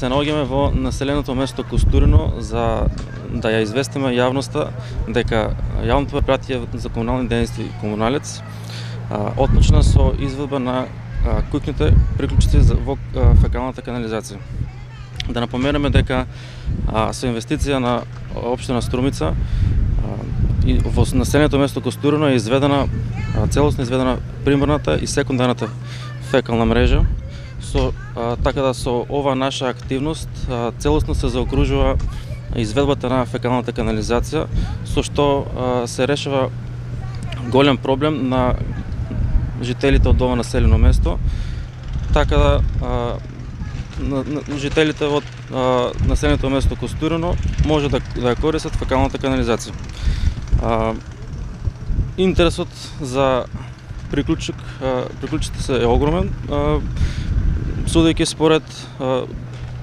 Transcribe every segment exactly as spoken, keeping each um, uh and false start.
се наоѓаме во населеното место Костурино за да ја известиме јавноста дека јавното предпријатие за комунални дејности Комуналец отпочна со изведба на куќните приклучици во фекалната канализација. Да напоменеме дека со инвестиција на општина Струмица и во населеното место Костурино е изведена целосно изведена примарната и секундарната фекална мрежа. Со така да со ова наша активност целосно се заокружува изведбата на фекалната канализација, со што се решава голем проблем на жителите од ова населено место, така да на, на, жителите од а, населеното место Костурино може да, да ја користат фекалната канализација. А, интересот за приклучок, а, приклучите се е огромен, а, судејќи според а,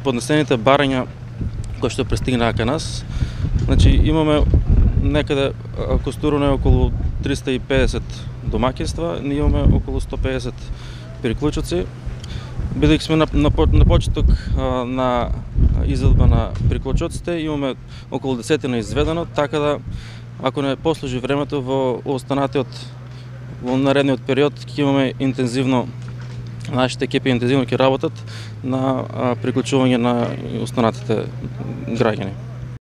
поднесените барања кои што пристигнаа кај нас. Значи имаме некаде Костурино е околу триста и педесет домаќинства, ние имаме околу сто и педесет приклучоци. Бидејќи сме на, на, на почеток а, на изведба на приклучоците, имаме околу десетина изведено, така да ако не послужи времето во останатиот во наредниот период ќе имаме интензивно, нашите екипи интензивно ќе работат на а, приклучување на останатите граѓани.